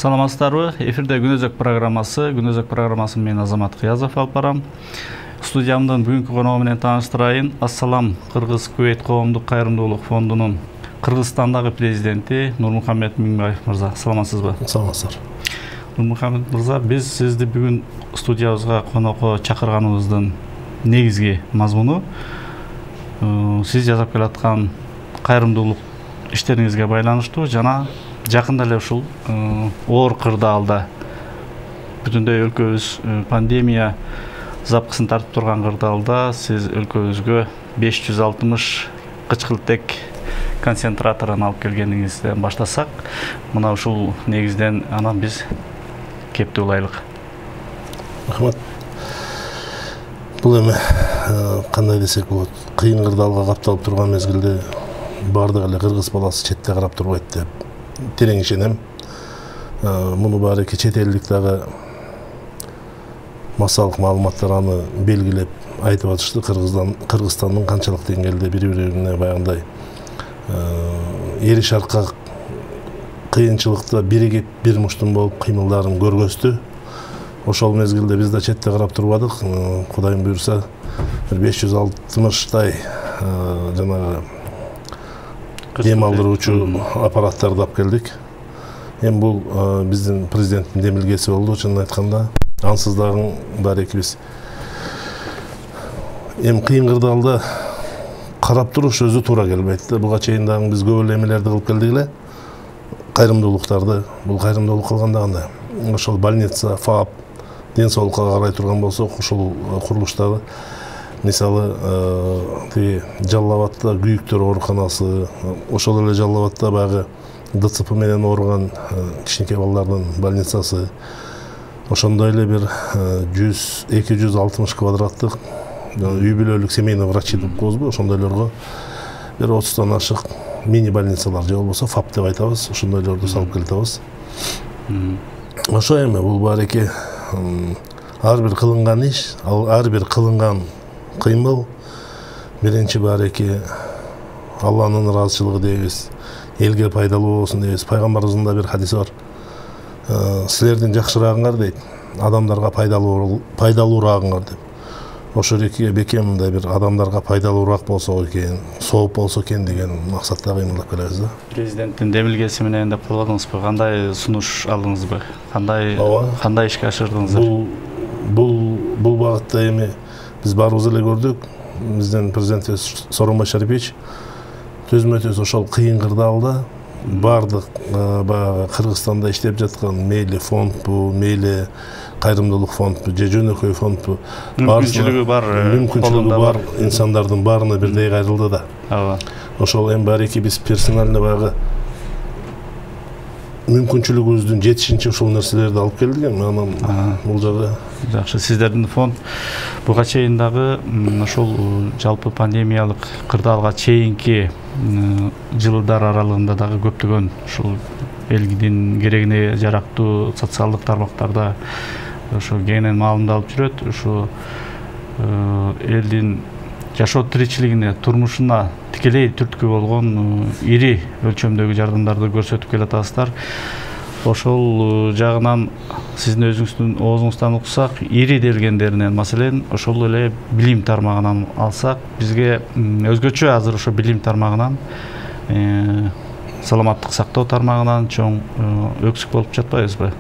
Саламатсыздарбы? Эфирде Күнөзөк программасы. Күнөзөк программасын мен Азамат Кыязов алып барам. Студиямдын бүгүнкү коногу менен тааныштырайын. Ассалам Кыргыз-Кувейт коомдук кайрымдуулук фондунун Кыргызстандагы президенти Нурмухамед Миңбаев мырза. Саламатсызбы? Саламатсыздар. Нурмухамед мырза, биз сизди бүгүн студиябызга конокко чакырганыбыздын негизги мазмуну сиз жасап келаткан кайрымдуулук иштериңизге байланыштуу жана жакында эле ушул оор кырдаалда бүтүндөй өлкөбүз пандемия запкысын тартып турган кырдаалда сиз өлкөбүзгө 560 кычкылтек концентраторун алып келгениңизден баштасак, мына ушул негизден анан биз кепти улайлык. Рахмат. Бул эми кандай десек болот, кыйын кырдаалга капталып турган мезгилде бардык эле кыргыз баласы четте карап турбайт деп терең ишенем. Муну баарыки чет элдик дагы массалык маалыматтар аны белгилеп айтып атышты. Кыргызстандын канчалык деңгээлде бири-бирине баягындай эри шаркка кыйынчылыкта биригип бир муштум болуп кыймылдарын көргөздү. Ошол мезгилде биз да четте карап турбадык. Кудайым буйрса 560тай жанагы дем алдыруучу аппараттарды алып келдик. Эми бул биздин президенттин демилгеси болду, чынын айтканда. Ансыз дагы баарыки биз эми кыйын кырдаалда карап туруш өзү туура келбейт. Буга чейин дагы биз көп эле эмелерди кылып келдик эле. Кайрымдуулуктарды, бул кайрымдуулук кылганда кандай? Ошол больница, ФАП, ден соолукка карай турган болсок, ушул курулуштагы мисалы тиги Жалал Абадта күйүктөр ооруканасы, ошол эле Жалал Абадта баягы ДЦП менен ооруган кичинекей балдардын больницасы, ошондой эле бир 100-260 квадраттык үй бүлөлүк семейный врачи деп коебузбу, ошондойлорго бир 30тан ашык мини больницалар же болбосо ФАП деп айтабыз, ошондойлорду салып келатабыз. Ошо эми бул баарыки ар бир кылынган иш, ар бир кылынган кыймыл биринчи баарыки Алланын ыраазычылыгы дейбиз, элге пайдалуу болсун дейбиз. Пайгамбарыбыздын бир хадиси бар. Силердин жакшыраагыңар дейт, адамдарга пайдалуураагыңар деп. Ошол эки бекем мындай бир адамдарга пайдалуураак болсо экен, сооп болсо экен деген максатта кыймылдап келебиз да. Президенттин демилгеси менен деп колдодуңузбу? Кандай сунуш алдыңызбы? Кандай ишке ашырдыңыздар? Бул багытта эми биз баарыбыз эле көрдүк. Биздин президентибиз Сооронбай Шарипович төзмө-төз ошол кыйын кырдаалда бардык баягы Кыргызстанда иштеп жаткан мейли фондбу, мейли кайрымдуулук фондбу, же жөнөкөй фондбу, мүмкүнчүлүгү бар инсандардын баарына бирдей кайрылды да. Ооба. Ошол эми баарыки биз персонально баягы мүмкүнчүлүгүбүздүн жетишинче ушул нерселерди алып келдик. Эми анан бул жагы жакшы. Сиздердин фонд буга чейин дагы ошол жалпы пандемиялык кырдаалга чейинки жылдар аралыгында дагы көптөгөн ушул элдин керегине жарактуу социалдык тармактарда ошо кеңинен маалымат алып жүрөт. Ушу элдин жашоо тиричилигине, турмушуна тикелей түрткү болгон ири өлчөмдөгү жардамдарды көрсөтүп келатасыздар. Ошол жагынан сиздин өзүңүздүн оозуңуздан уксак, ири делгендеринен, маселен, ошол эле билим тармагынан алсак, бизге өзгөчө азыр ошо билим тармагынан, саламаттык сактоо тармагынан чоң өксүк болуп жатпайбызбы?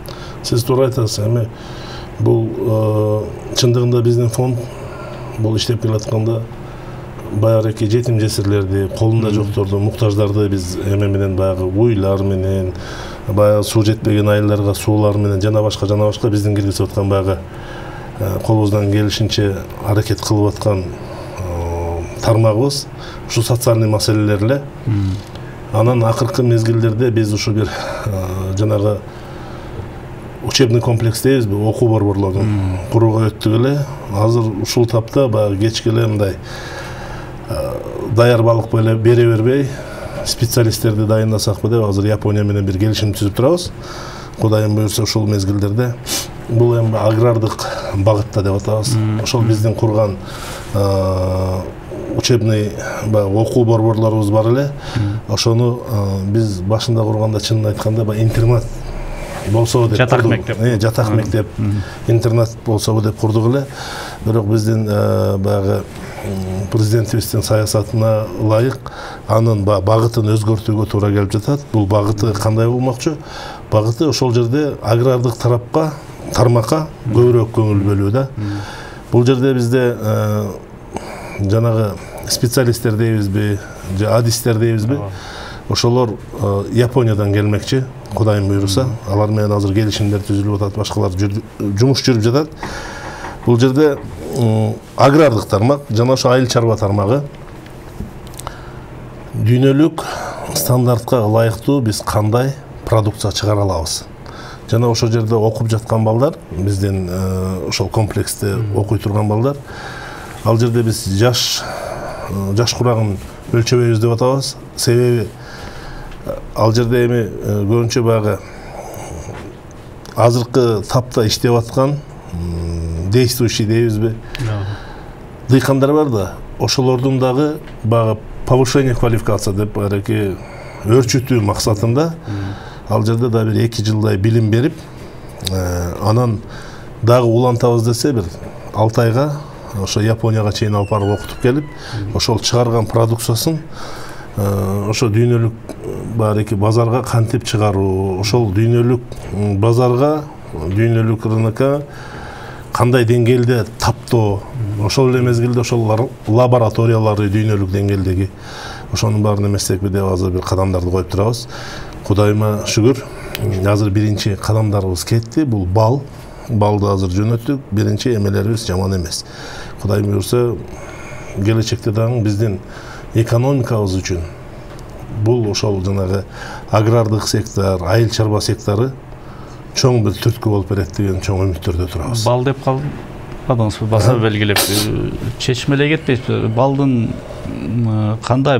Сиз туура айтасыз. Эми бул чындыгында биздин фонд бул иштеп келатканда баягы жетим жесирлерди, колунда жокторду, муктаждарды биз эме менен баягы уйлар менен, баягы суу жетпеген айылдарга суулар менен жана башка биздин киргизип аткан баягы колубуздан келишинче аракет кылып аткан тармагыбыз ушу социальный маселелер эле. Анан акыркы мезгилдерде биз ушу бир жанагы учебный комплекс дейбизби, окуу борборлорун курууга өттүк эле. Азыр ушул тапта баягы кечке эле мындай даяр балык бере бербей специалисттерди дайындасакпы деп азыр Япония менен бир келишим түзүп турабыз. Кудайым буйрса ушул мезгилдерде бул эми агрардык багытта деп атабыз. Ошол биздин курган учебный окуу борборлорубуз бар эле. Ошону биз башында курганда чынын айтканда интернат болсо деп жатак мектеп. Жатак мектеп, интернат болсо деп курдук эле. Бирок биздин баягы президентибиздин саясатына ылайык анын багытын өзгөртүүгө туура келип жатат. Бул багыты кандай болмокчу? Багыты ошол жерде агрардык тармакка көбүрөөк көңүл бөлүү да. Бул жерде бизде жанагы специалисттер дейбизби, же адистер дейбизби? Ошолор Япониядан келмекчи, Кудайым буйруса. Алар менен азыр келишимдер түзүлүп атат, башкалар жумуш жүрүп жатат. Бул жерде агрардык тармак жана ошо айыл чарба тармагы дүйнөлүк стандартка ылайыктуу биз кандай продукция чыгара алабыз. Жана ошол жерде окуп жаткан балдар, биздин ошол комплексте окуй турган балдар, ал жерде биз жаш курагын өлчөбөйбүз деп атабыз. Себеби ал жерде эми көбүнчө баягы азыркы тапта иштеп аткан действующий дейбизби, дыйкандар бар да, ошолордун дагы баягы повышение квалификация деп бареки өрчүтүү максатында ал жерде да бир 2 жылдай билим берип, анан дагы улантабыз десе бир 6 айга ошо Японияга чейин алып барып окутуп келип, ошол чыгарган продукциясын ошо дүйнөлүк бареки базарга кантип чыгаруу, ошол дүйнөлүк базарга, дүйнөлүк рынокко кандай деңгээлде таптоо, ошол эле мезгилде ошол лабораториялары дүйнөлүк деңгээлдеги ошонун баарын эместекпи деп азыр бир кадамдарды коюп турабыз. Кудайыма шүгүр, азыр биринчи кадамдарыбыз кетти. Бул балды азыр жөнөттүк. Биринчи эмелерибиз жаман эмес. Кудай буйрса, келечекте дагы биздин экономикабыз үчүн бул ошол жанагы агрардык сектор, айыл чарба сектору чоң бир түрткү болуп берет деген чоң үмүттөрдө турабыз. Бал деп калдыңызбы, баса белгилеп чечмелей кетпейсизби? Балдын кандай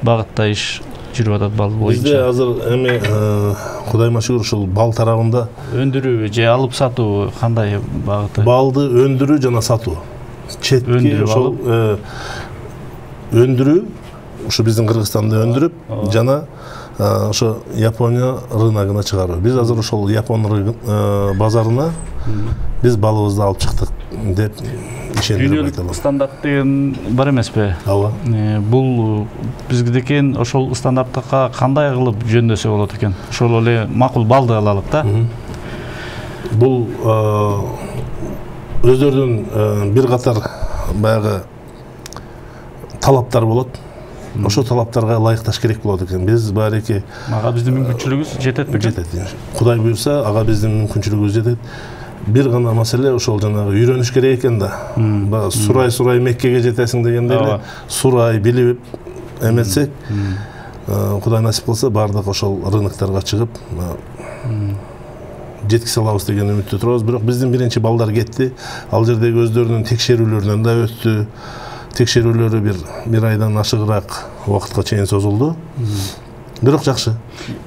багытта иш жүрүп атат бал боюнча? Бизде азыр эми Кудайыма шүгүр ушул бал тарабында өндүрүү же алып сатуу кандай багыты? Балды өндүрүү жана сатуу. Четки ошол өндүрүү ушу биздин Кыргызстанда өндүрүп жана ошо Япония рыногуна чыгаруу. Биз азыр ошол Япон базарына биз балыбызды алып чыктык деп ишендирип айта алам. Дүйнөлүк стандарт деген бар эмеспи? Ооба. Бул бизгидеки ошол стандартка кандай кылып жөндөсө болот экен? Ошол эле макул балды алалык да. Бул өздөрүнүн бир катар баягы талаптар болот. Ошо талаптарга ылайыкташ керек болот экен. Биз бареки ага биздин мүмкүнчүлүгүбүз жетет бекен? Жетет. Кудай буйрса, ага биздин мүмкүнчүлүгүбүз жетет. Бир гана маселе ошол жанагы үйрөнүш керек экен да. Сурай Меккеге жетесиң дегендей эле сурай билип эметсек, Кудай насип кылса бардык ошол рынокторго чыгып жеткизе алабыз деген үмүттө турабыз. Бирок биздин биринчи балдар кетти. Ал жердеги өздөрүнүн текшерүүлөрүнөн да өттү. Текшерүүлөрү бир айдан ашыгыраак убакытка чейин созулду. Бирок жакшы.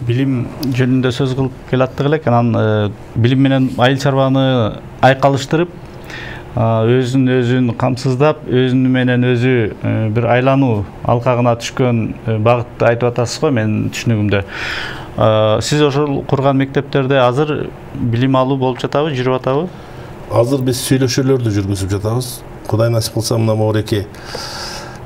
Билим жөнүндө сөз кылып келаттык элек, анан билим менен айыл чарбаны айкалыштырып, өзүн камсыздап, өзүнү менен өзү бир айлануу алкагына түшкөн багытты айтып атасыз го менин түшүнүгүмдө. Сиз ошол курган мектептерде азыр билим алуу болуп жатабы, жүрүп атабы? Азыр биз сүйлөшүүлөрдү жүргүзүп жатабыз. Кудай насип кылса, мына могуреки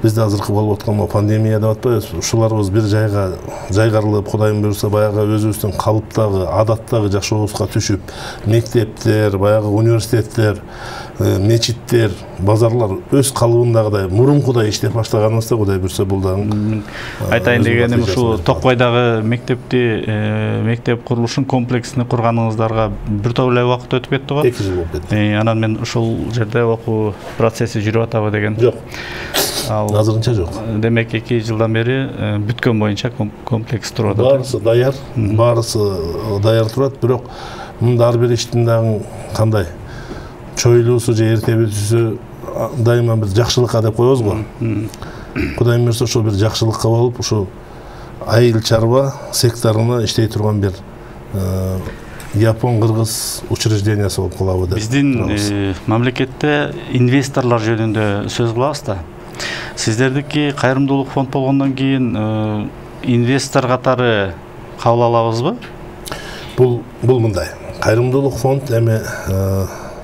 бизде азыркы болуп аткан пандемия деп атпайбызбы? Ушуларыбыз бир жайга жайгарылып, Кудайым буйрса, баягы өзүбүздүн калыптагы, адаттагы жашообузга түшүп, мектептер, баягы университеттер, мечиттер, базарлар өз калыбындагыдай, мурункудай иштеп баштаганыбызда, Кудай буйрса, бул дагы айтайын дегеним ушу Токбайдагы мектеп курулушун комплексин курганыңыздарга бир топ эле убакыт өтүп кетти го. 2 жыл болуп кетти. Анан мен ушул жерде окуу процесси жүрүп атабы деген. Жок. Азырынча жок. Демек 2 жылдан бери бүткөн боюнча комплекс туруп атат. Баарысы даяр, баарысы даяр турат, бирок мында ар бир иштин дагы кандай чойлуусу же эртебитүүсү дайыма бир жакшылыкка деп коебуз го. Кудайым буйрса, ошол бир жакшылыкка болуп, ушу айыл чарба секторуна иштей турган бир Япон-Кыргыз учреждениясы болуп калабы деп. Биздин мамлекетте инвесторлор жөнүндө сөз кылабыз да. Сиздердики кайрымдуулук фонд болгондон кийин инвестор катары кабыл алабызбы? Бул мындай. Кайрымдуулук фонд эми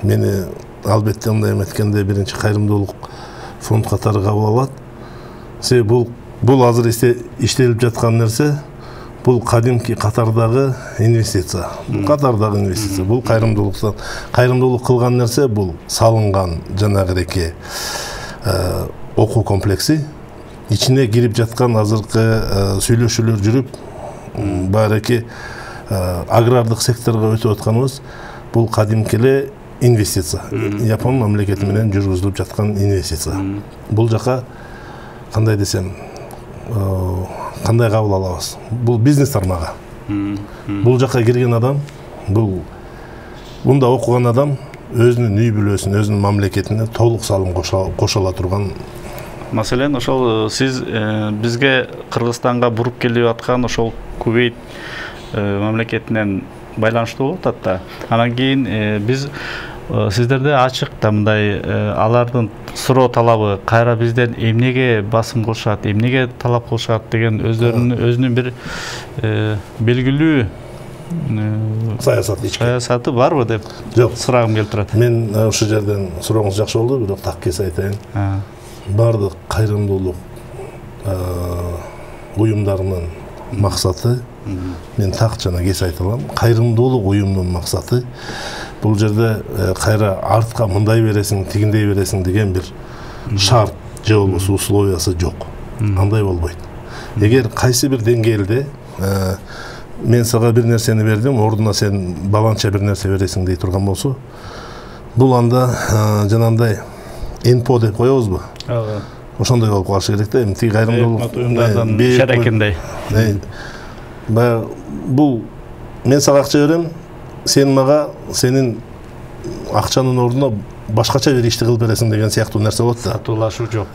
мени албетте мындай эметкенде биринчи кайрымдуулук фонд катары кабыл алат. Себеби бул азыр иштелип жаткан нерсе, бул кадимки Катардагы инвестиция. Катардагы инвестиция. Бул кайрымдуулук кылган нерсе, бул салынган жанагыреки окуу комплекси. Ичине кирип жаткан азыркы сүйлөшүүлөр жүрүп, баарыки агрардык секторго өтүп атканыбыз, бул кадимки эле инвестиция. Япон мамлекети менен жүргүзүлүп жаткан инвестиция. Бул жака кандай десем, кандай кабыл алабыз? Бул бизнес тармагы. Бул жака кирген адам, мында окуган адам өзүнүн үй бүлөсүн, өзүнүн мамлекетине толук салым кошо ала турган. Маселен, ошол сиз бизге Кыргызстанга буруп келип аткан ошол Кувейт мамлекетинен байланыштуу болуп атат да. Анан кийин биз сиздерде ачык да мындай алардын суроо талабы кайра бизден эмнеге басым кылышат, эмнеге талап кылышат деген өзүнүн бир белгилүү саясаты барбы деп сурагым келип турат. Мен ушул жерден сурооңуз жакшы болду, бирок так кесе айтайын. Бардык кайрымдуулук уюмдарынын максаты, мен так жана кесе айта алам, кайрымдуулук уюмунун максаты бул жерде кайра артка мындай бересиң, тигиндей бересиң деген бир шарт же болбосо условиясы жок. Андай болбойт. Эгер кайсы бир деңгээлде мен сага бир нерсени бердим, ордуна сен баланча бир нерсе бересиң дей турган болсо, бул анда жанагындай НПО деп коебузбу? Ошондой болуп калышы керек да. Эми тиги кайрымдуулук уюмдардан шарекиндей. Бул мен сага акча берем, сен мага сенин акчанын ордуна башкача бир ишти кылып бересиң деген сыяктуу нерсе болот да. Сатуулашуу жок.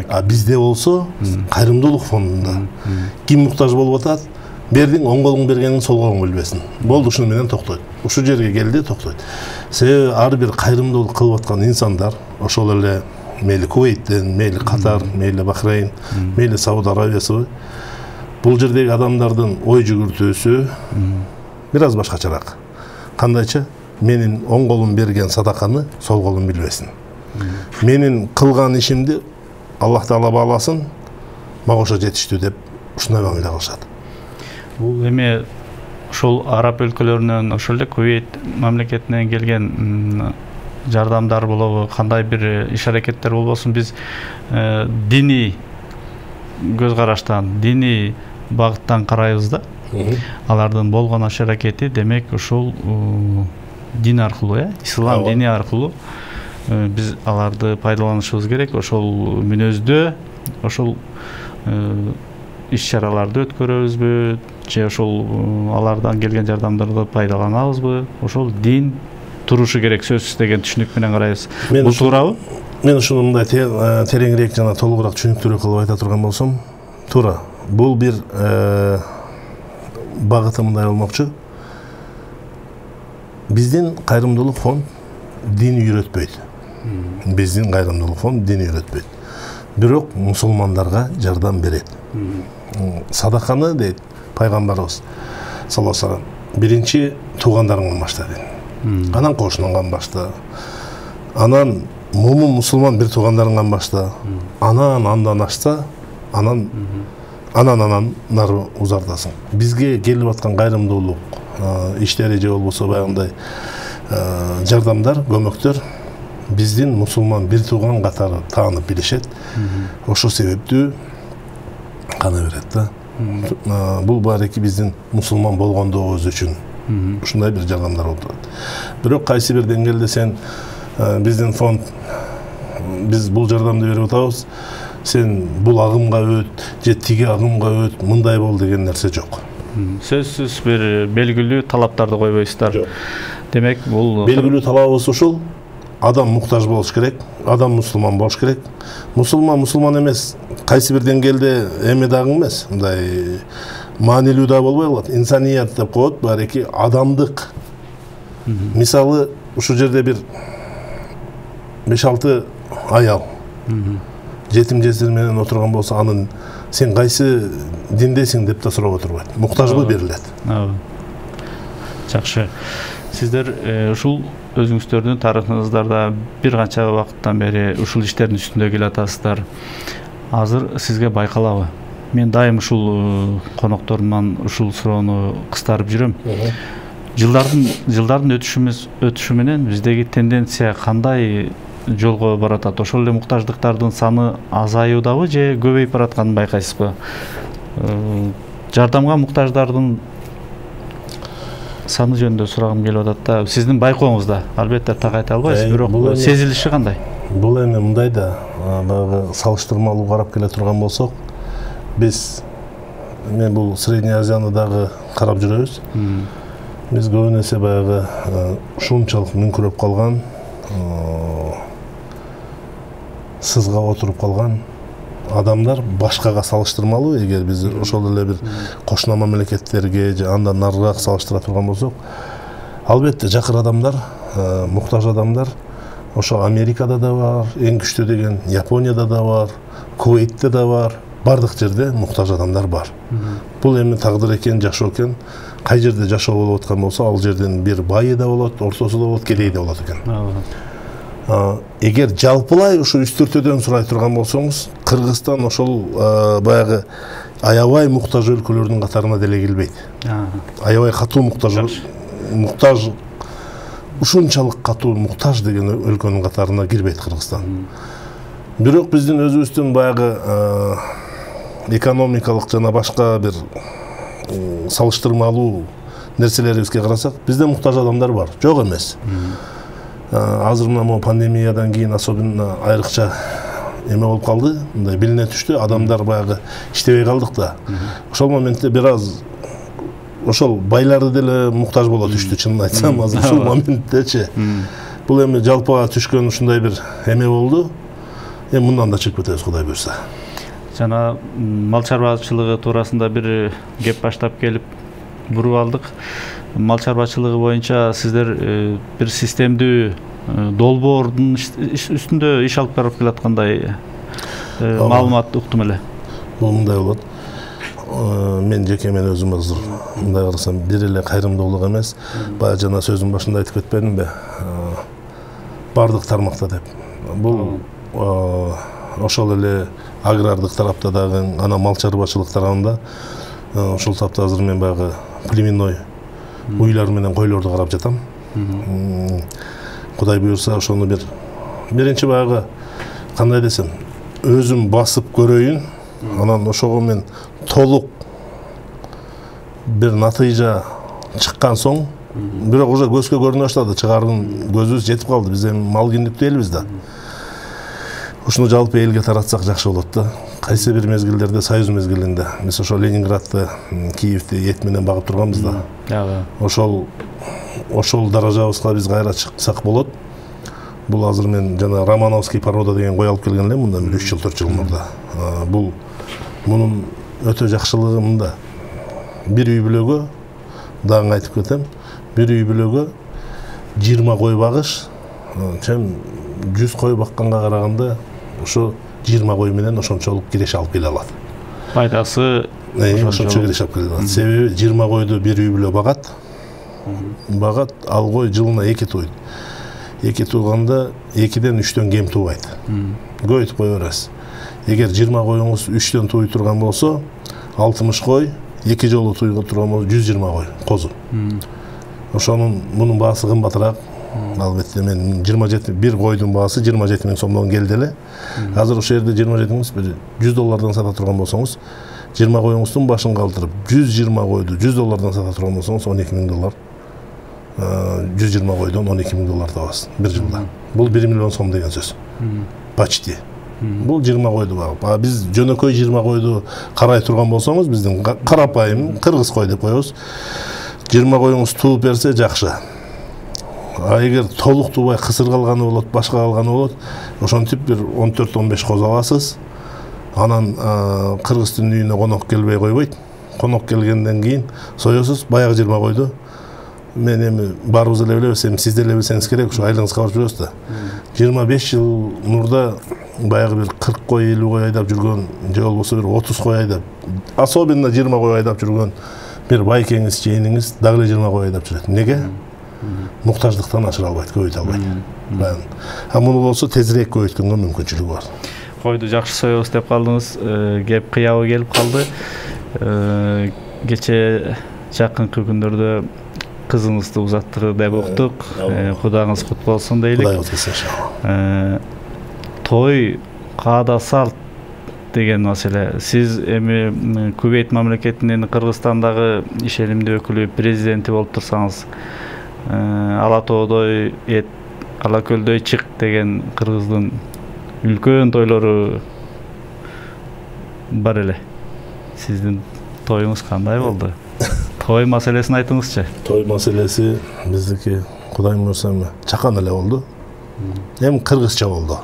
А бизде болсо, кайрымдуулук фондунда ким муктаж болуп атат? Бердиң, оң колуң бергениң сол колуң билбесин. Болду, ушуну менен токтойт. Ушул жерге келди, токтойт. Себеби ар бир кайрымдуулук кылып аткан инсандар, ошол эле мейли Кувейттен, мейли Катар, мейли Бахрейн, мейли Сауд Арабиясы, бул жердеги адамдардын ой жүгүртүүсү бир аз башкачараак. Кандайча? Менин оң колум берген садаканы сол колум билбесин. Менин кылган ишимди Аллах Таала бааласын, мага ошо жетиштүү деп ушундай мамиле кылышат. Бул эми ошол араб өлкөлөрүнөн, ошол эле Кувейт мамлекетинен келген жардамдар болобу, кандай бир иш-аракеттер болбосун, биз диний көз караштан, диний багыттан карайбыз да. Алардын болгон иш-аракети демек ошол дин аркылуу, ислам дини аркылуу биз аларды пайдаланышыбыз керек. Ошол мүнөздө, ошол иш-чараларды өткөрөбүзбү, же ошол алардан келген жардамдарды пайдаланабызбы? Ошол дин турушу керек сөзсүз деген түшүнүк менен карайбыз. Бул туурабы? Мен ушуну мындай тереңирээк жана толугураак түшүнүктүүрөөк кылып айта турган болсом, туура. Бул бир багыты мындай болмокчу. Биздин кайрымдуулук фонд дин үйрөтпөйт. Биздин кайрымдуулук фонд дин үйрөтпөйт. Бирок мусулмандарга жардам берет. Садаканы дейт пайгамбарыбыз саллаллаху алейхи вассалам, биринчи туугандарыңдан башта дейт. Анан кошунуңан башта. Анан мусулман бир туугандарыңдан башта. Андан ашса, анан нары узартасың. Бизге келип аткан кайрымдуулук иштери же болбосо баягындай жардамдар, көмөктөр биздин мусулман бир тууган катары таанып билишет. Ошол себептүү кана берет да. Бул баарыки биздин мусулман болгондугубуз үчүн ушундай бир жардамдар болуп турат. Бирок кайсы бир деңгээлде сен биздин фонд биз бул жардамды берип атабыз, сен бул агымга өт, же тиги агымга өт, мындай бол деген нерсе жок. Сөзсүз бир белгилүү талаптарды койбойсуздар. Демек бул белгилүү талабыбыз ушул. Адам муктаж болуш керек, адам мусулман болуш керек. Мусулман эмес, кайсы бир деңгээлде эме дагы эмес, мындай маанилүү да болбой калат. Инсаният деп коет, баарыки адамдык. Мисалы, ушул жерде бир 5-6 аял жетим жесир менен отурган болсо, анын сен кайсы диндесиң деп да сурап отурбайт. Муктажбы берилет. Жакшы. Сиздер ушул өзүңүздөрдүн тарыхыңыздарда бир канча убакыттан бери ушул иштердин үстүндө келатасыздар. Азыр сизге байкалабы? Мен дайым ушул конокторуман ушул суроону кыстарып жүрөм. Жылдардын өтүшү менен биздеги тенденция кандай жолго баратат? Ошол эле муктаждыктардын саны азаюудабы же көбөйүп баратканын байкайсызбы? Жардамга муктаждардын саны жөнүндө сурагым келип атат да. Сиздин байкооңузда, албетте так айта албайсыз, бирок сезилиши кандай? Бул эми мындай да, баягы салыштырмалуу карап келе турган болсок, мен бул Средний Азияны дагы карап жүрөбүз. Биз көбүн эсе баягы ушунчалык мүңкүрөп калган, сызга отуруп калган адамдар башкага салыштырмалуу, эгер биз ошол эле бир кошуна мамлекеттерге же андан нарыраак салыштыра турган болсок, албетте жакыр адамдар, муктаж адамдар ошо Америкада да бар, эң күчтүү деген Японияда да бар, Кувейтте да бар, бардык жерде муктаж адамдар бар. Бул эми тагдыр экен, жашоо экен. Кай жерде жашоо болуп аткан болсо, ал жерден бир байы да болот, ортосу да болот, кедейи да болот экен. Эгер жалпылай ушу үстүртөдөн сурай турган болсоңуз, Кыргызстан ошол баягы аябай муктаж өлкөлөрдүн катарына деле кирбейт. Аябай катуу муктаж ушунчалык катуу муктаж деген өлкөнүн катарына кирбейт Кыргызстан. Бирок биздин өзүбүздүн баягы экономикалык жана башка бир салыштырмалуу нерселерибизге карасак, бизде муктаж адамдар бар, жок эмес. Азыр мына пандемиядан кийин особенно айрыкча эме болуп калды, мындай билине түштү, адамдар баягы иштебей калдык да. Ошол моментте бир аз ошол байларды деле муктаж боло түштү, чынын айтсам, азыр ушул моменттечи. Бул эми жалпыга түшкөн ушундай бир эме болду. Эми мындан да чыгып кетебиз, Кудай буйрса. Жана мал чарбачылыгы туурасында бир кеп баштап келип буруп алдык. Мал чарбачылыгы боюнча сиздер бир системдүү долбоордун үстүндө иш алып барып келаткандай маалымат уктум эле. Бул мындай болот. Мен жеке мен өзүм азыр мындай карасам, бир эле кайрымдуулук эмес, баягы жана сөзүн башында айтып кетпедимби? Бардык тармакта деп. Бул ошол эле агрардык тарапта дагы, ана мал чарбачылык тарабында ошол тапта азыр мен баягы племенной уйлар менен койлорду карап жатам. Кудай буйрса ошону биринчи баягы кандай десем, өзүм басып көрөйүн, анан ошого мен толук бир натыйжа чыккан соң, бирок уже көзгө көрүнө баштады, чыгардын көзүбүз жетип калды. Биз эми мал киндиктүү элбиз да. Ушуну жалпы элге таратсак жакшы болот да. Кайсы бир мезгилдерде, Союз мезгилинде, биз ошо Ленинградты, Киевти эт менен багып турганбыз да. Ошол даражабызга биз кайра чыксак болот. Бул азыр мен жана Романовский порода деген кой алып келген элем мындан 3 жыл 4 жыл мурда. Мунун өтө жакшылыгы мында. Бир үй бүлөгө, дагы айтып кетем, бир үй бүлөгө 20 кой багыш, 100 кой бакканга караганда ошо 20 кой менен ошончолук киреш алып келе алат. Пайдасы ошончо киреш алып келе алат. Себеби 20 койду бир үй бүлө багат. Ал кой жылына 2 тууйт. 2 тууганда 2ден 3төн кем туубайт. Көбөйтүп кое бересиз. Эгер 20 коюңуз 3төн тууй турган болсо, 60 кой, 2 жолу туйга турган болсо 120 кой козу. Мунун баасы кымбатыраак. Албетте мен 27 бир койдун баасы 27 000 сомдон келди эле. Азыр ошол жерде 27 000 $100 сата турган болсоңуз, 20 коюңуздун башын калтырып 120 койду $100 сата турган болсоңуз, $12 000. 120 койдон $12 табасыз бир жылда. Бул 1 миллион сом деген сөз. Почти. Бул 20 койду багып. Биз жөнөкөй 20 койду карай турган болсоңуз, биздин карапайым кыргыз кой деп коебуз. 20 коюңуз тууп берсе жакшы. Эгер толук туубай кысыр калганы болот, башка калганы болот, ошентип бир 14-15 коз аласыз. Анан кыргыздын үйүнө конок келбей койбойт. Конок келгенден кийин соесуз баягы 20 койду. Мен эми барыбыз эле билебиз, эми сиз деле билсеңиз керек, ушу айлыгыңызга барып жүрөбүз да. 25 жыл мурда баягы бир 40 кой, 50 кой айдап жүргөн, же болбосо бир 30 кой айдап, особенно 20 кой айдап жүргөн бир байкеңиз же иниңиз дагы эле 20 кой айдап жүрөт. Неге? Муктаждыктан ашыра албайт, көбөйтө албайт. А муну болсо тезирээк көбөйткөнгө мүмкүнчүлүгү бар. Койду жакшы соебуз деп калдыңыз. Кеп кыябы келип калды. Кече жакынкы күндөрдө кызыңызды узаттыгы деп уктук. Кудагыңыз кут болсун дейлик. Кудай утулсын иншалла. Той каада салт деген маселе. Сиз эми Кувейт мамлекетинин Кыргызстандагы ишенимдүү өкүлү, президенти болуп турсаңыз, ала тоодой эт, ала көлдөй чык деген кыргыздын үлкөн тойлору бар эле. Сиздин тоюңуз кандай болду? Той маселесин айтыңызчы. Той маселеси биздики Кудайым буйрса чакан эле болду. Эми кыргызча болду.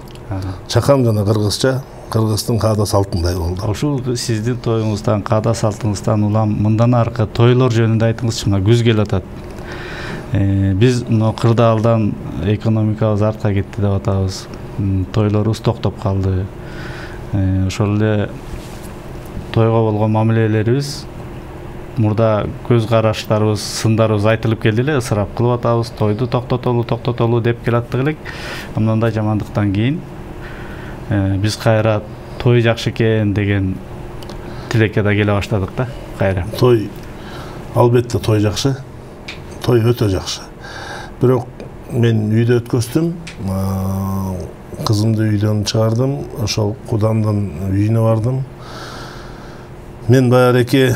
Чакан жана кыргызча Кыргыздын каада салтындай болду. Ушул сиздин тоюңуздан, каада салтыңыздан улам мындан аркы тойлор жөнүндө айтыңызчы. Мына күз келип атат. Биз мына кырдаалдан экономикабыз артка кетти деп атабыз. Тойлорубуз токтоп калды. Ошол эле тойго болгон мамилелерибиз, мурда көз караштарыбыз, сындарыбыз айтылып келди эле, ысырап кылып атабыз, тойду токтотолу деп келаттык элек. Мындай жамандыктан кийин биз кайра той жакшы экен деген тилекке да келе баштадык да, кайра. Той албетте той жакшы. Той өтө жакшы. Бирок мен үйдө өткөздүм. Кызымды үйдөн чыгардым, ошол кудамдын үйүнө бардым. Мен баягы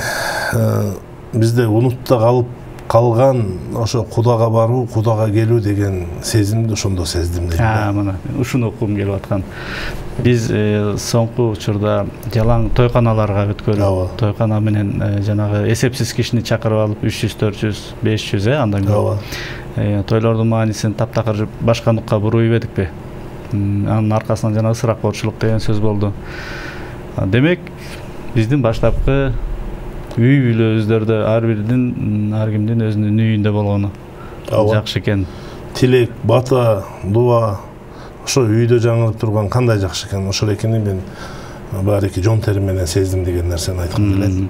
бизде унутта калган ошо кудага баруу, кудага келүү деген сезимди ошондо сездим дейм. Мына ушуну окугум келип аткан. Биз соңку учурда жалаң тойканаларга өткөрүп, тойкана менен жанагы эсепсиз кишини чакырып алып 300, 400, 500 андан көп. Тойлордун маанисин таптакыр башкандыкка буруп ийбедикпи? Анын аркасынан жана ысырапкорчулук деген сөз болду. Демек, биздин баштапкы үй бүлөбүздөрдө ар кимдин өзүнүн үйүндө болгону жакшы экен. Тилек, бата, дуа ошо үйдө жаңырып турган кандай жакшы экен. Ошол экени мен баарыки жон терим менен сездим деген нерсени айткым келет.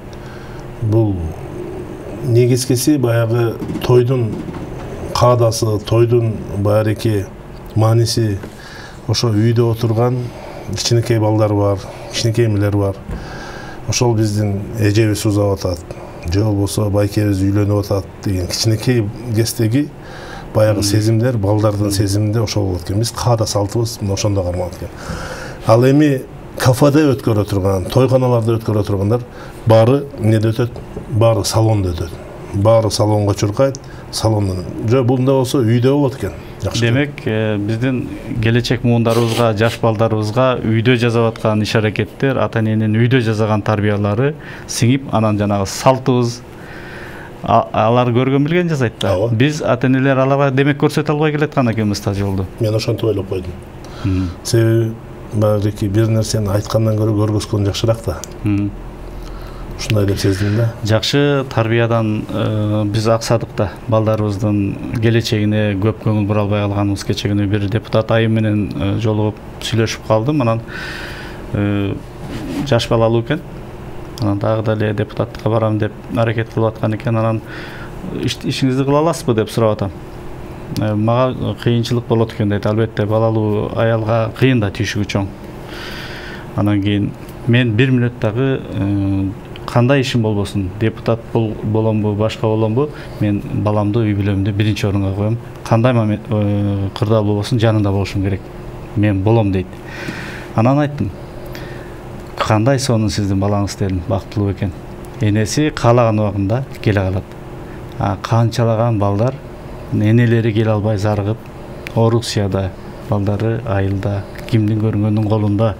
Бул негизгиси баягы тойдун каадасы, тойдун баарыки мааниси ошо үйдө отурган кичинекей балдар бар, кичинекей эмелер бар. Ошол биздин эжебиз узап атат, же болбосо байкебиз үйлөнүп атат деген кичинекей кездеги баягы сезимдер, балдардын сезиминде ошол болот экен. Биз каада салтыбыз ошондо кармалат экен. Ал эми кафеде өткөрө турган, тойканаларда өткөрө тургандар баары эмнеде өтөт? Баары салондо өтөт. Баары салонго чуркайт, салондон. Же бунда болсо үйдө болот экен. Демек, биздин келечек муундарыбызга, жаш балдарыбызга үйдө жасап аткан иш-аракеттер, ата-эненин үйдө жасаган тарбиялары сиңип, анан жанагы салтыбыз алар көргөн билген жасайт да. Биз ата-энелер аларга демек көрсөтө албай келаткан экенбиз та жолду. Мен ошентип ойлоп койдум. Себеби багыки бир нерсени айткандан көрө көргөзгөн жакшыраак да. Ушундай деп сездим да. Жакшы тарбиядан биз аксадык да. Балдарыбыздын келечегине көп көңүл бура албай калганыбыз. Кече күнү бир депутат айым менен жолугуп сүйлөшүп калдым. Анан жаш балалуу экен. Анан дагы деле депутаттыкка барам деп аракет кылып аткан экен. Анан ишиңизди кыла аласызбы деп сурап атам. Мага кыйынчылык болот экен дейт. Албетте балалуу аялга кыйын да, түйшүгү чоң. Анан кийин мен 1 мүнөттөгү кандай ишим болбосун, депутат боломбу, башка боломбу, мен баламды, үй бүлөмдү биринчи орунга коем. Кандай кырдаал болбосун, жанында болушум керек. Мен болом дейт. Анан айттым, кандай сонун сиздин балаңыз дедим, бактылуу экен. Энеси каалаган убагында келе калат. Канчалаган балдар энелери келе албай зарыгып, Орусияда балдары айылда, кимдин көргөндүн колунда,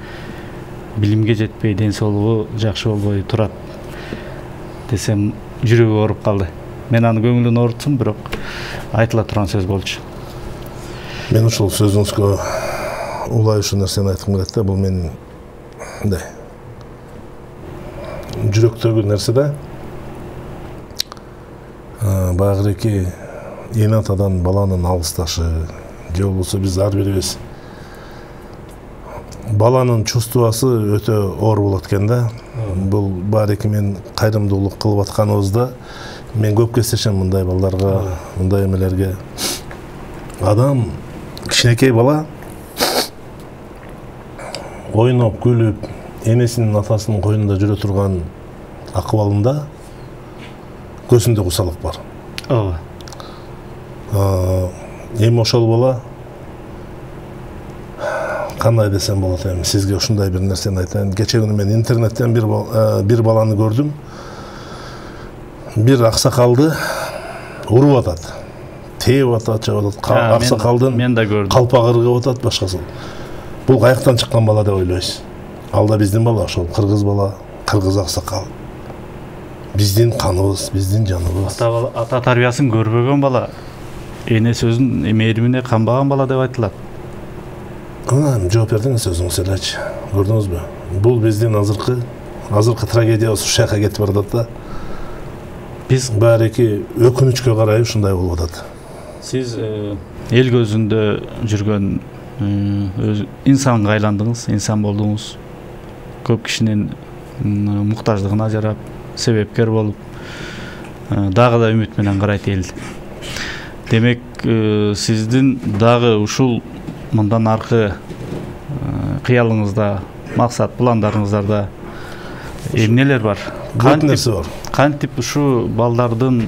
билимге жетпей, ден соолугу жакшы болбой турат десем, жүрөгү ооруп калды. Мен анын көңүлүн оорутсум, бирок айтыла турган сөз болчу. Мен ушул сөзүңүзгө улай ушул нерсени айткым келет да. Бул менин мындай жүрөктөгү нерсе да. Багыреки эне атадан баланын алысташы, же болбосо биз ар бирибиз баланын чувствосы өтө оор болот экен да. Бул баарыки мен кайрымдуулук кылып атканыбызда мен көп кездешем мындай балдарга, мындай эмелерге. Адам кичинекей бала ойноп, күлүп, энесинин атасынын койнунда жүрө турган акыбалында көзүндө кусалык бар. Ооба. Эми ошол бала кандай десем болот эми сизге ушундай бир нерсени айтайын. Кече күнү мен интернеттен бир баланы көрдүм. Бир аксакалды уруп атат. Тээп атат, чабып атат. Аксакалдын мен да көрдүм. Калпак ыргып атат, башкасы. Бул каяктан чыккан бала деп ойлойсуз? Ал да биздин бала, ошол кыргыз бала, кыргыз аксакал. Биздин каныбыз, биздин жаныбыз. Ата тарбиясын көрбөгөн бала, эне сөзүн мээримине канбаган бала деп айтылат. Жооп бердиңиз өзүңүз элечи. Көрдүңүзбү? Бул биздин азыркы трагедиябыз ушул жака кетип баратат да. Биз баарыки өкүнүчкө карай ушундай болуп атат. Сиз эл көзүндө жүргөн инсанга айландыңыз, инсан болдуңуз. Көп кишинин муктаждыгына жарап, себепкер болуп, дагы да үмүт менен карайт эл. Демек, сиздин дагы ушул мындан аркы кыялыңызда, максат, пландарыңыздарда эмнелер бар? Көп нерсе бар. Кантип ушу балдардын,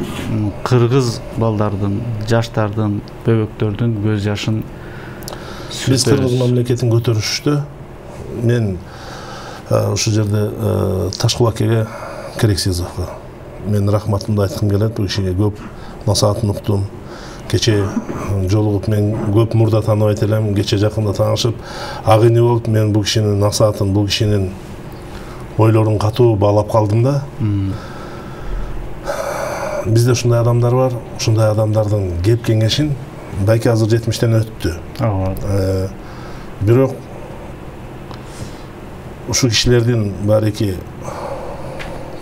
кыргыз балдардын, жаштардын, бөбөктөрдүн көз жашын биз кыргыз мамлекетин көтөрүштү. Мен ушул жерде Ташкулакеге Керексизовго мен рахматымды айткым келет. Бул кишиге көп насаатын уктум. Кече жолугуп мен көп мурда тааныбайт элем. Кече жакында таанышып, ак ине болуп мен бул кишинин насаатын, бул кишинин ойлорун катуу баалап калдым да. Бизде ушундай адамдар бар. Ушундай адамдардын кеп кеңешин байке азыр 70-тен өттү. Бирок ушул кишилердин баарыки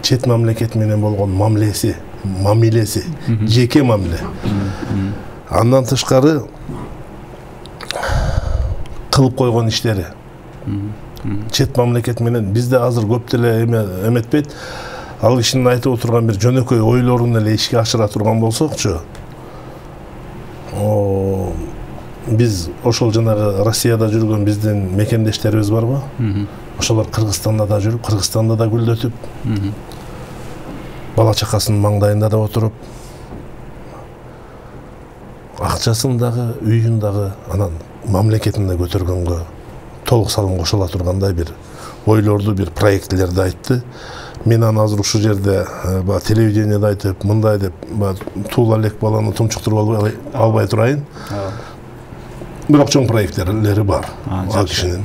чет мамлекет менен болгон мамилеси, жеке мамиле. Андан тышкары кылып койгон иштери. Чет мамлекет менен бизде азыр көп деле эметпейт. Ал кишинин айтып отурган бир жөнөкөй ойлорун эле ишке ашыра турган болсокчу, биз ошол жанагы Россияда жүргөн биздин мекендештерибиз барбы? Ошолор Кыргызстанда да жүрүп, Кыргызстанда да гүлдөтүп, бала чакасынын маңдайында да отуруп, акчасын дагы, үйүн дагы, анан мамлекетин да көтөргөнгө толук салым кошула тургандай бир ойлорду, бир проектилерди айтты. Мен аны азыр ушул жерде телевидениеде айтып, мындай деп, туула элек баланы тумчуктуруп албай турайын. Бирок чоң проекттери бар ал кишинин.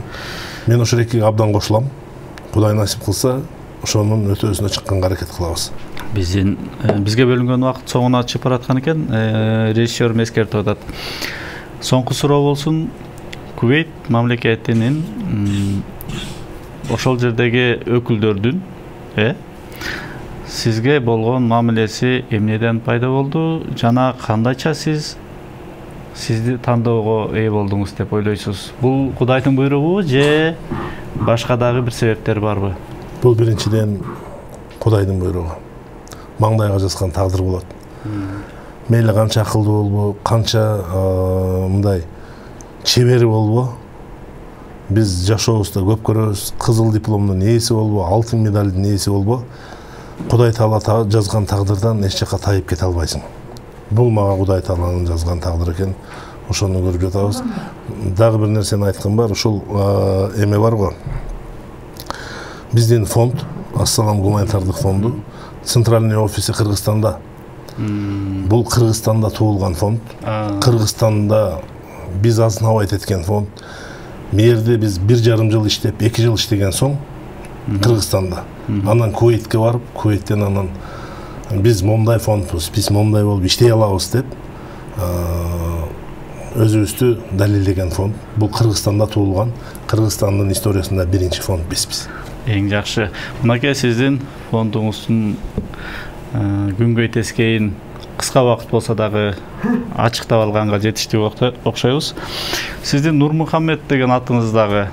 Мен ошол экиге абдан кошулам. Кудай насип кылса, ошонун өтөөсүнө чыкканга аракет кылабыз. Бизге бөлүнгөн убакыт соңуна чыгып бараткан экен. Режиссер эскертип атат. Соңку суроо болсун. Кувейт мамлекетинин ошол жердеги өкүлдөрдүн сизге болгон мамилеси эмнеден пайда болду жана кандайча сизди тандоого ээ болдуңуз деп ойлойсуз? Бул Кудайдын буйругу же башка дагы бир себептер барбы? Бул биринчиден Кудайдын буйругу. Маңдайга жазган тагдыр болот. Мейли канча акылдуу болбу, канча мындай чебери болбу, биз жашообузда көп көрөбүз. Кызыл дипломдун ээси болбу, алтын медалдын ээси болбу, Кудай Таала жазган тагдырдан эч жака тайып кете албайсың. Бул мага Кудай Тааланын жазган тагдыр экен. Ошону көрүп жатабыз. Дагы бир нерсени айткым бар. Ушул эме бар го. Биздин фонд, Ассалам гуманитардык фонду, центральный офиси Кыргызстанда. Бул Кыргызстанда туулган фонд. Кыргызстанда биз азынабайт эткен фонд. Мерде биз 1,5 жыл иштеп, 2 жыл иштеген соң Кыргызстанда. Анан Кувейтке барып, Кувейттен анан биз момундай фондбуз, биз момундай болуп иштей алабыз деп өзүбүздү далилдеген фонд. Бул Кыргызстанда туулган, Кыргызстандын историясында биринчи фонд бизбиз. Эң жакшы. Мынакей сиздин фондуңуздун күнгөй тескейин кыска убакыт болсо дагы ачыктап алганга жетиштүү окшойбуз. Сиздин Нурмухаммед деген атыңыз дагы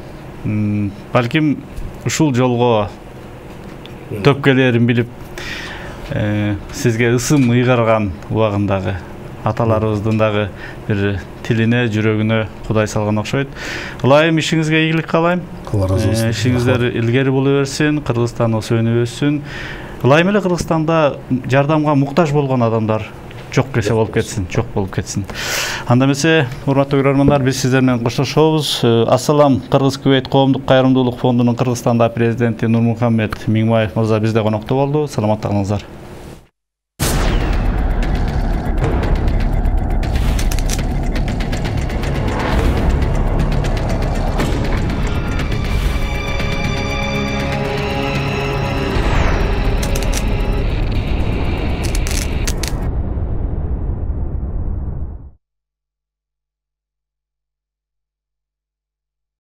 балким ушул жолго төпкелерин билип сизге ысым ыйгарган убагындагы аталарыбыздын дагы бир тилине, жүрөгүнө Кудай салган окшойт. Ылайым ишиңизге ийгилик каалайм. Ишиңиздер илгери боло берсин, Кыргызстан өөнүп өссүн. Ылайым эле Кыргызстанда жардамга муктаж болгон адамдар жок кесе болуп кетсин, жок болуп кетсин. Анда эмесе, урматтуу көрөрмандар, биз сиздер менен коштошобуз. Ассалам, Кыргыз Кувейт коомдук кайрымдуулук фондунун Кыргызстанда президенти Нурмухаммед Миңбаев мырза бизде конокто болду. Саламатта калыңыздар.